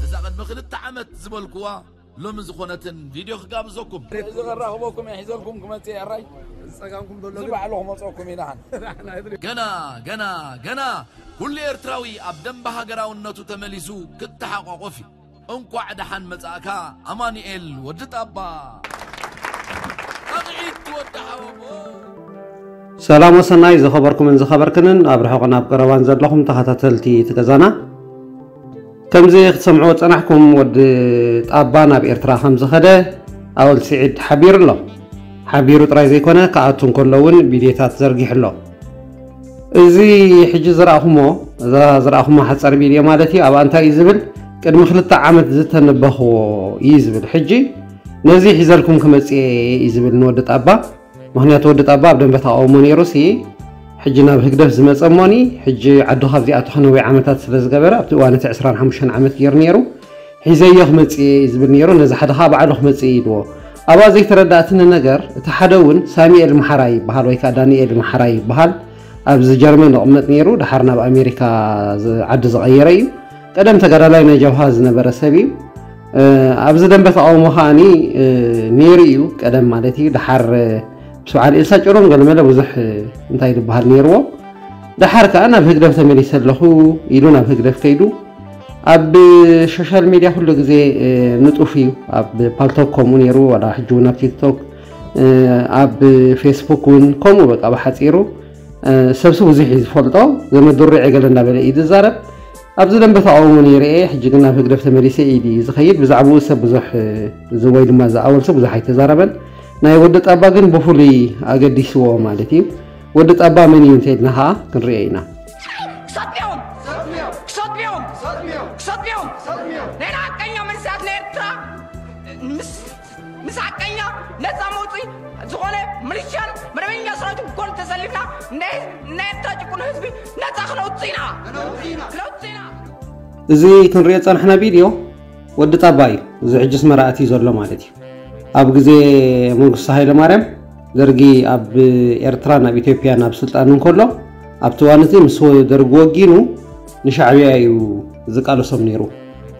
እዛ ቅድሚ ክልተ ዓመት ዝበልኩዋ ሎሚ ዝኾነትን ቪድዮ ክጋብዘኩም። እዚ ከራኽበኩም እየ ሒዘልኩም ክመጽእ እየ። ኣራይ ዝጸጋምኩም ዘሎ እዚ ግን ባዕሉ ክመጽኦኩም ኢልሃን። ገና ገና ገና ኩሉ ኤርትራዊ ኣብ ደንበ ሃገራውነቱ ተመሊሱ ክተሓቋቆፍ እዩ። እንኳዕ ደሓን መጻእካ ኣማኑኤል ወዲ ጣባ። ጣቕዒት ወዲ ሓወቦ። ሰላም ወሰናይ ዝኸበርኩምን ዝኸበርክንን ኣብ ርሑቕን ኣብ ቀረባን ዘለኹም ተኸታተልቲ እቲ ገዛና። ከምዚ ክትሰምዕዎ ጸናሕኩም ወዲ ጣባ ናብ ኤርትራ ከም ዝኸደ ኣወል ስዒድ ሓቢሩ ኣሎ። ሓቢሩ ጥራይ ዘይኮነ ክኣቱ እንከሎ እውን ቪድዮታት ዘርጊሑ ኣሎ። እዚ ሕጂ ዝረኣኹሞ፣ እዛ ዝረኣኹሞ ሓጻር ቪድዮ ማለት እዩ። ኣብኣ እንታይ እዩ ዝብል? ቅድሚ ክልተ ዓመት ዝተነበኽዎ እዩ ዝብል። ሕጂ ነዚ ሒዘልኩም ክመጽእ እየ እዩ ዝብል ንወዲ ጣባ። ምኽንያቱ ወዲ ጣባ ኣብ ደንበ ተቃውሞ ነይሩ ሲ፣ ሕጂ ናብ ህግደፍ ዝመጸ እሞኒ፣ ሕጂ ዓዱ ካብ ዚኣቱ ከነዊሕ ዓመታት ስለ ዝገበረ፣ ኣብቲ እዋን እቲ ዕስራን ሓሙሽተን ዓመት ገይሩ ነይሩ። ሒዘዮ ክመጽእ እየ እዩ ዝብል ነይሩ። ነዚ ሓደ ኸኣ ባዕሉ ክመጽእ እዩ ኢልዎ። ኣብኣ ዘይተረዳእትኒ ነገር፣ እቲ ሓደ እውን ሳሚኤል መሓራይ ይበሃል ወይ ከኣ ዳንኤል መሓራይ ይበሃል። ኣብዚ ጀርመን ዝቕመጥ ነይሩ፣ ደሓር ናብ ኣሜሪካ ዝ-፣ ዓዲ ዝቐየረ እዩ። ቀደም ተጋዳላይ ናይ ጀብሃ ዝነበረ ሰብ እዩ። እ፣ ኣብዚ ደንበ ተቃውሞ ከኣኒ፣ እ፣ ነይሩ እዩ፣ ቀደም ማለት እዩ። ደሓር፣ እ፣ ምስ በዓል ኤልሳ ጭሮም ገለመለ ብዙሕ፣ እ፣ እንታይ ዝበሃል ነይርዎ። ደሓር ከኣ ናብ ህግደፍ ተመሊሰ ኣለኹ ኢሉ ናብ ህግደፍ ከይዱ። ኣብ ሶሻል ሚድያ ኩሉ ግዜ፣ እ፣ ንጡፍ እዩ። ኣብ ፓልቶክ ከምኡ ነይሩ፣ ዋላ ሕጂ እውን ኣብ ቲክቶክ፣ እ፣ ኣብ ፌስቡክ እውን ከምኡ በቃ ብሓጺሩ፣ እ፣ ሰብሲ ብዙሕ እዩ ዝፈልጦ፣ ዘመድ ድሩዕ ገለ እንዳበለ እዩ ዝዛረብ። ኣብዚ ደንበ ተቃውሞ ነይረ እየ፣ ሕጂ ግን ናብ ህግደፍ ተመሊሰ ኢሉ እዩ ዝኸይድ። ብዛዕባኡ ሰብ ብዙሕ፣ እ፣ እዚ ወይ ድማ ዝኣወል ሰብ ብዙሕ ኣይተዛረበን። ናይ ወዲ ጣባ ግን ብፍሉይ ኣገዲስዎ ማለት እዩ። ወዲ ጣባ መን እዩ እንተኢልና ኸዓ ክንሪኦ ኢና። ክሰጥዮም! ክሰጥዮም! ክሰጥዮም! ናይ ሓቀኛ መንእሰያት ናይ ኤርትራ ምስ፣ ምስ ሓቀኛ ነጻ መውጽኢ ዝኾነ ሚሊሻን መደበኛ ሰራዊትን ጎን ተሰሊፍና ናይ፣ ናይ ኤርትራ ጭቁን ህዝቢ ነጻ ክነውጽእ ኢና! ክነውጽእ ኢና! እዚ ክንሪኦ ዝጸናሕና ቪድዮ ወዲ ጣባ እዩ። እዚ ሕጂ ኣስመራ ኣትዩ ዘሎ ማለት እዩ። ኣብ ግዜ መንግስቱ ሃይለማርያም ደርጊ ኣብ ኤርትራን ኣብ ኢትዮጵያን ኣብ ስልጣን እንከሎ፣ ኣብቲ እዋን እቲ ምስ ደርጊ ወጊኑ ንሻዕብያ እዩ ዝቃለሶም ነይሩ።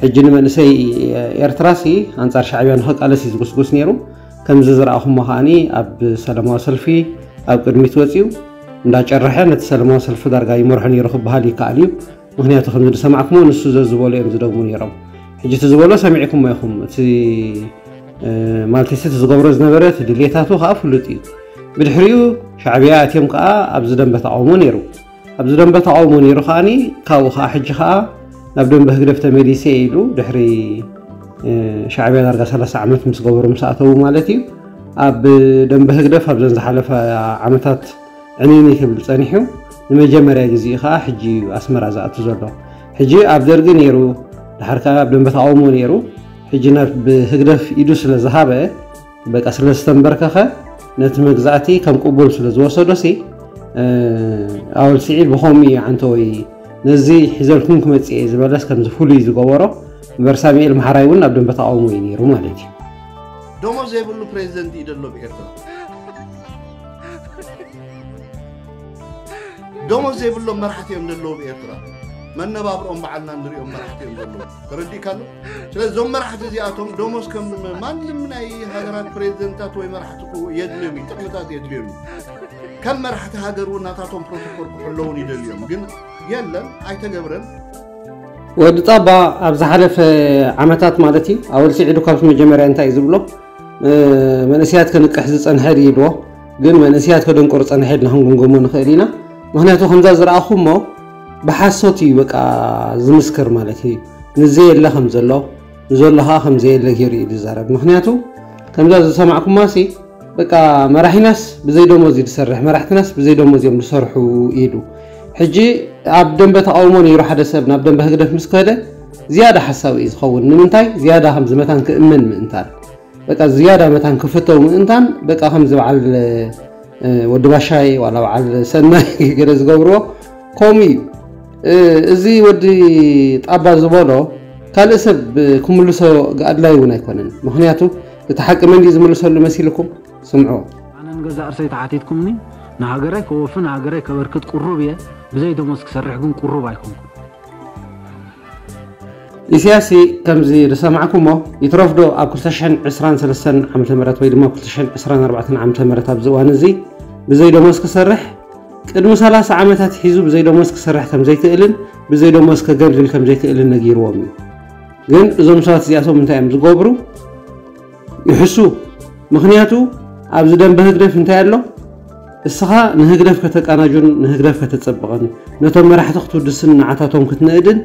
ሕጂ ንመንእሰይ ኤርትራሲ ኣንጻር ሻዕብያ ንኽቃለስ እዩ ዝጉስጉስ ነይሩ። ከምዚ ዝረኣኹሞ ከኣኒ ኣብ ሰላማዊ ሰልፊ ኣብ ቅድሚት ወጺኡ እንዳጨረሐ ነቲ ሰላማዊ ሰልፊ ዳርጋ ይመርሖ ነይሩ ክበሃል ይከኣል እዩ። ምኽንያቱ ከምዚ ዝሰማዕኩሞ ንሱ ዘዝበሎ እዮም ዝደግሙ ነይሮም። ሕጂ እቲ ዝበሎ ሰሚዕኩሞ ኢኹም። እቲ፣ እ፣ ማለት እቲ ዝገብሮ ዝነበረ እቲ ድሌታቱ ከኣ ፍሉጥ እዩ። ብድሕሪኡ ሻዕብያ ኣትዮም ከኣ ኣብዚ ደንበ ተቃውሞ ነይሩ። ኣብዚ ደንበ ተቃውሞ ነይሩ ከኣኒ ካብኡ ከኣ ሕጂ ከኣ ናብ ደንበ ህግደፍ ተመሊሰ ኢሉ ድሕሪ፣ እ፣ ሻዕብያ ዳርጋ ሰላሳ ዓመት ምስ ገበሩ ምስ ኣተዉ ማለት እዩ። ኣብ ደንበ ህግደፍ ኣብዘን ዝሓለፈ ዓመታት ዕንይንይ ክብል ጸኒሑ፣ ንመጀመርያ ግዜኡ ከኣ ሕጂ እዩ ኣስመራ ዝኣቱ ዘሎ። ሕጂ ኣብ ደርጊ ነይሩ፣ ድሓር ከኣ ኣብ ደንበ ተቃውሞ ነይሩ። ሕጂ ናብ ህግደፍ ኢዱ ስለ ዝሃበ፣ በቃ ስለ ዝተንበርከኸ፣ ነቲ መግዛእቲ ከም ቅቡል ስለ ዝወሰዶሲ፣ እ፣ ኣወል ስዒድ ብኸምኡ እዩ ዓንተወይ ነዚ ሒዘልኩም ክመጽእ እየ ዝበለስ ከምዚ ፍሉይ ዝገበሮ። እምበር ሳሙኤል መሓራይ እውን ኣብ ደንበ ተቃውሞ እዩ ነይሩ ማለት እዩ። ደሞዝ ዘይብሉ ፕሬዚደንት እዩ ዘሎ ብኤርትራ። ደሞዝ ዘይብሎም መራሕቲ እዮም ዘለዉ ብኤርትራ። መነባብሮኦም ባዕልና ንሪኦም መራሕቲ እዮም ዘለዉ። ተረዲእካ ኣሎ? ስለዚ እዞም መራሕቲ እዚኣቶም ደሞዝ ከም ማንም ናይ ሃገራት ፕሬዚደንታት ወይ መራሕቲ ክው-፣ የድልዮም እዩ፣ ጥቕምታት የድልዮም እዩ። ከም መራሕቲ ሃገር እውን ናታቶም ፕሮቶኮል ክሕለውን ይደልዮም። ግን የለን፣ ኣይተገብረን። ወዲ ጣባ ኣብ ዝሓለፈ ዓመታት ማለት እዩ፣ ኣወል ስዒዱ ካብቲ መጀመርያ እንታይ እዩ ዝብሎ? እ፣ መንእሰያት ከንቅሕ ዝጸንሐ ድዩ ኢልዎ፣ ግን መንእሰያት ከደንቁር ጸንሐ ኢልና ክንግምግሞ ንኽእል ኢና። ምኽንያቱ ከምዛ ዝረኣኹሞ ብሓሶት እዩ በቃ ዝምስክር ማለት እዩ። ንዘየለ ከም ዘሎ፣ ንዘሎ ኸኣ ከም ዘየለ ገይሩ እዩ ዝዛረብ። ምኽንያቱ ከምዛ ዝሰማዕኩማሲ በቃ መራሒናስ ብዘይ ደሞዝ እዩ ዝሰርሕ፣ መራሕትናስ ብዘይ ደሞዝ እዮም ዝሰርሑ ኢሉ። ሕጂ ኣብ ደንበ ተቃውሞ ነይሩ ሓደ ሰብ ናብ ደንበ ህግደፍ ምስ ከደ ዝያዳ ሓሳዊ እዩ ዝኸውን። ንምንታይ? ዝያዳ ከምዚ መታን ክእመን ምእንታን። በቃ ዝያዳ መታን ክፍተው ምእንታን በቃ ከምዚ በዓል፣ እ፣ ወዲ ባሻይ ዋላ በዓል ሰናይ ገለ ዝገብርዎ ከምኡ እዩ። እ፣ እዚ ወዲ ጣባ ዝበሎ ካልእ ሰብ ክምልሶ ኣድላይ እውን ኣይኮነን። ምኽንያቱ እቲ ሓቂ መን ድዩ ዝምልሰሉ መሲልኩም? ስምዑ። ኣነ ንገዛእ ርእሰይ ተሓቲትኩምኒ፣ ንሃገረይ ከወፊ፣ ንሃገረይ ከበርክት ቁሩብ እየ። ብዘይ ደሞዝ ክሰርሕ ግን ቁሩብ ኣይኮንኩን። ኢሳያስ ከምዚ ዝሰማዕኩሞ ይትረፍዶ ኣብ ክልተ ሽሕን ዕስራን ሰለስተን ዓመተ ምህረት ወይ ድማ ክልተ ሽሕን ዕስራን ኣርባዕተን ዓመተ ምህረት ኣብዚ እዋን እዚ ብዘይ ደሞዝ ክሰርሕ፣ ቅድሚ ሰላሳ ዓመታት ሒዙ ብዘይ ደሞዝ ክሰርሕ ከም ዘይክእልን ብዘይ ደሞዝ ከገልግል ከም ዘይክእልን ነጊርዎም እዩ። ግን እዞም ሰባት እዚኣቶም እንታይ እዮም ዝገብሩ? ይሕሱ። ምኽንያቱ ኣብዚ ደንበ ህግደፍ እንታይ ኣሎ? እስኻ ንህግደፍ ከተቃናጁን ንህግደፍ ከተጸብቕን ነቶም መራሕቲ ክትውድስን ንዓታቶም ክትንእድን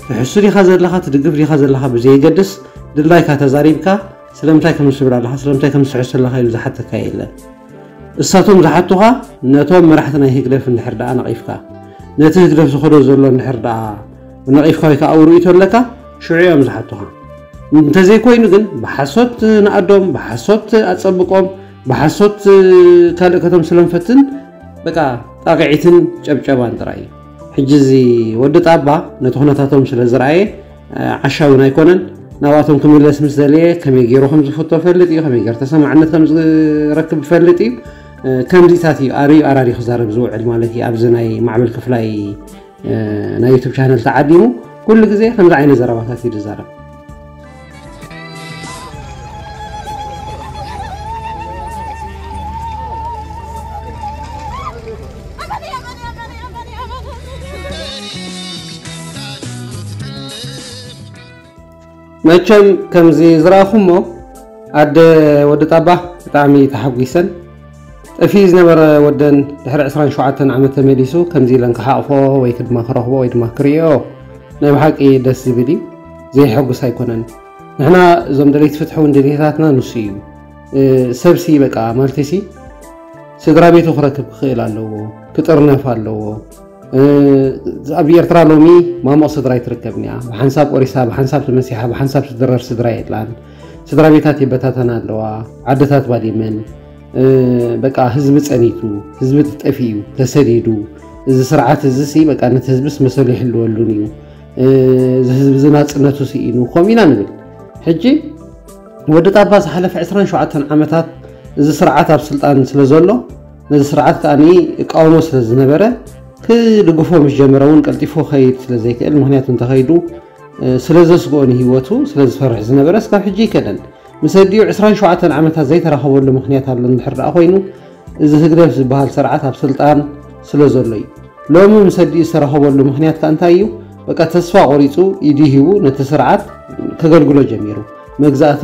ትሕሱ ዲኻ ዘለኻ፣ ትድግፍ ዲኻ ዘለኻ ብዘየገድስ ድላይካ ተዛሪብካ ስለምንታይ ከም ትብል ኣለኻ፣ ስለምንታይ ከም ትስሕሱ ኣለኻ ኢሉ ዝሓተካ የለን። እሳቶም ዝሓቱኻ ነቶም መራሕቲ ናይ ህግደፍ እንድሕር ደኣ ነቒፍካ፣ ነቲ ህግደፍ ዝኸዶ ዘሎ እንድሕር ደኣ ነቒፍካ ወይ ከዓ ኣብ ርእይቶ ኣለካ፣ ሽዑ እዮም ዝሓቱኻ። እንተዘይኮይኑ ግን ብሓሶት ንኣዶም፣ ብሓሶት ኣጸብቆም፣ ብሓሶት ካልእ ከተምስሎም ፈትን፣ በቃ ጣቕዒትን ጨብጨባን ጥራይ እዩ። ሕጂ እዚ ወዲ ጣባ ነቲ ኩነታቶም ስለ ዝረኣየ ዓሻ እውን ኣይኮነን። ናብኣቶም ክምለስ ምስ ደለየ ከመይ ገይሩ ከም ዝፍቶ ፈልጥ እዩ፣ ከመይ ገይሩ ተሰማዕነት ከም ዝረክብ ፈልጥ እዩ። ከምዚታት እዩ ኣርዩ ኣራርዩ ክዛረብ ዝውዕል ማለት እዩ። ኣብዚ ናይ ማዕበል ክፍላይ ናይ ዩቱብ ቻነል ተዓዲሙ ኩሉ ግዜ ከምዚ ዓይነት ዘረባታት እዩ ዝዛረብ። መቸም ከምዚ ዝረኣኹሞ ኣደ ወዲ ጣባ ብጣዕሚ ተሓጒሰን። ጠፊኡ ዝነበረ ወደን ድሕሪ ዕስራን ሸውዓተን ዓመት ተመሊሱ ከምዚ ኢለን ክሓቕፎ ወይ ድማ ክረኽቦ ወይ ድማ ክርእዮ ናይ ብሓቂ ደስ ዝብል እዩ። ዘየሐጉስ ኣይኮነን። ንሕና እዞም ደለይቲ ፍትሒ እውን ድሌታትና ንሱ እዩ። ሰብሲ በቃ ማለትሲ ስድራ ቤቱ ክረክብ ክኽእል ኣለዎ፣ ክጥርነፍ ኣለዎ። ኣብ ኤርትራ ሎሚ ማሞቕ ስድራ ኣይትርከብን እያ። ብሓንሳብ ቆሪሳ፣ ብሓንሳብ ተመሲሓ፣ ብሓንሳብ ትድረር ስድራ የላን። ስድራ ቤታት ይበታተና ኣለዋ፣ ዓድታት ባዲመን። በቃ ህዝቢ ጸኒቱ፣ ህዝቢ ተጠፊኡ፣ ተሰዲዱ። እዚ ስርዓት እዚ ሲ በቃ ነቲ ህዝብስ መሰሉ ይሕልወሉን እዩ። እዚ ህዝቢ እዚ ናጽነቱ ስኢኑ ከምኡ ኢና ንብል። ሕጂ ወዲ ጣባ ዝሓለፈ ዕስራን ሸውዓተን ዓመታት እዚ ስርዓት ኣብ ስልጣን ስለ ዘሎ ነዚ ስርዓት ከኣ እቃወሞ ስለ ዝነበረ ክድግፎ ምስ ጀመረ እውን ቀልጢፉ ከይድ ስለ ዘይክእል፣ ምክንያቱ እንተኸይዱ ስለ ዘስግኦ ንህይወቱ ስለ ዝፈርሕ ዝነበረ እስካብ ሕጂ ይከደን። ምስ ኣዲኡ ዕስራን ሸውዓተን ዓመታት ዘይተራኸበሉ ምኽንያት ኣሎ እንድሕር ደኣ ኮይኑ፣ እዚ ህግደፍ ዝበሃል ስርዓት ኣብ ስልጣን ስለ ዘሎ እዩ። ሎሚ ምስ ኣዲኡ ዝተራኸበሉ ምኽንያት ከ እንታይ እዩ? በቃ ተስፋ ቆሪጹ ኢዱ ሂቡ ነቲ ስርዓት ከገልግሎ ጀሚሩ። መግዛእቲ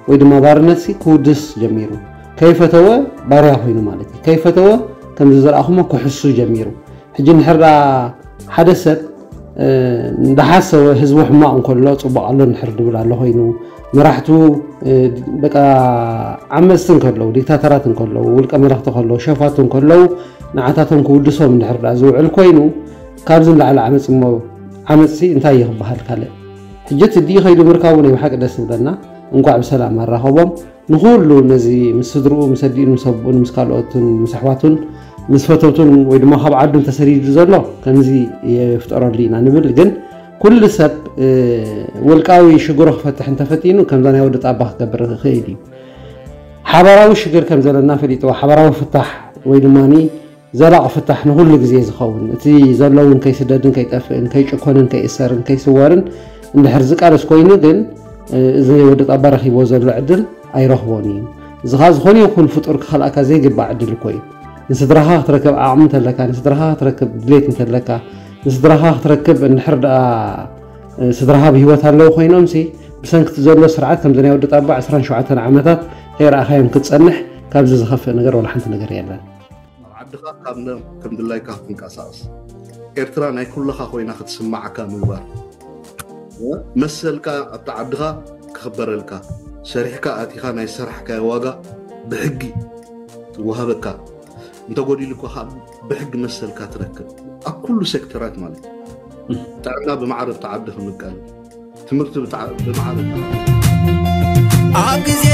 ወይ ድማ ባርነትሲ ክውድስ ጀሚሩ። ከይፈተወ ባርያ ኮይኑ ማለት እዩ። ከይፈተወ ከምዚ ዝረኣኹሞ ክሕሱ ጀሚሩ። ሕጂ እንድሕር ደኣ ሓደ ሰብ እንዳሓሰወ ህዝቡ ሕማቕ እንከሎ ጽቡቕ ኣሎ እንድሕር ድብል ኣሎ ኮይኑ፣ መራሕቱ በቃ ዓመጽቲ እንከለዉ፣ ዲክታተራት እንከለዉ፣ ውልቀ መለኽቲ ከለዉ፣ ሸፋቱ እንከለዉ ንዓታቶም ክውድሶም እንድሕር ደኣ ዝውዕል ኮይኑ፣ ካብዚ ንላዕሊ ዓመጽ እሞ ዓመጽሲ እንታይ እዩ ክበሃል ካልእ? ሕጂ እቲ ድዩ ከይዱ ምርካቡ ናይ ብሓቂ ደስ ዝብለና። እንኳዕ ብሰላም ኣራኸቦም። ንኹሉ ነዚ ምስ ስድርኡ፣ ምስ ኣዲኡን፣ ምስ ኣቦኡን፣ ምስ ካልኦትን፣ ምስ ኣሕዋቱን፣ ምስ ፈተውቱን ወይ ድማ ካብ ዓዱን ተሰዲዱ ዘሎ ከምዚ የፍጠረሉ ኢና ንብል። ግን ኩሉ ሰብ ውልቃዊ ሽግሩ ክፈትሕ እንተፈቲኑ ከምዛ ናይ ወዲ ጣባ ክገብር ይኽእል እዩ። ሓባራዊ ሽግር ከም ዘለና ፈሊጥዎ ሓባራዊ ፍታሕ ወይ ድማ ዘላቒ ፍታሕ ንኹሉ ግዜ ዝኸውን፣ እቲ ዘሎ እውን ከይስደድን ከይጠፍእን ከይጭኮንን ከይእሰርን ከይስወርን እንድሕር ዝቃለስ ኮይኑ ግን እዚ ወዲ ጣባ ረኺብዎ ዘሎ ዕድል ኣይረኽቦን እዩ። እዚ ኸዓ ዝኾነ ይኹን ፍጡር ክኸልኣካ ዘይግባእ ዕድል እኮ እዩ። ንስድራኻ ክትረክብ ዓቕሚ እንተለካ፣ ንስድራኻ ክትረክብ ድሌት እንተለካ፣ ንስድራኻ ክትረክብ እንድሕር ደኣ ስድራኻ ብህይወት ኣለዉ ኮይኖምሲ ብሰንክቲ ዘሎ ስርዓት ከምዚ ናይ ወዲ ጣባ ዕስራን ሸውዓተን ዓመታት ከይረኣኻዮም ክትጸንሕ ካብዚ ዝኸፍእ ነገር ዋላ ሓንቲ ነገር የለን። ኣብ ዓድኻ ካብ ነ-፣ ከም ድላይካ ክትንቀሳቐስ፣ ኤርትራ ናይ ኩልኻ ኮይና ክትስማዓካ ምግባር፣ መሰልካ ኣብቲ ዓድኻ ክኽበረልካ፣ ሰሪሕካ ኣቲኻ ናይ ዝሰራሕካዮ ዋጋ ብሕጊ ትወሃበካ፣ እንተጎዲሉካ ካብ ብሕጊ መሰልካ ትረክብ ኣብ ኩሉ ሴክተራት ማለት እዩ። ጥዕና ብማዕረ ኣብቲ ዓዲ ክምቀል፣ ትምህርቲ ብጣዕ-፣ ብማዕረ ኣብ ግዜ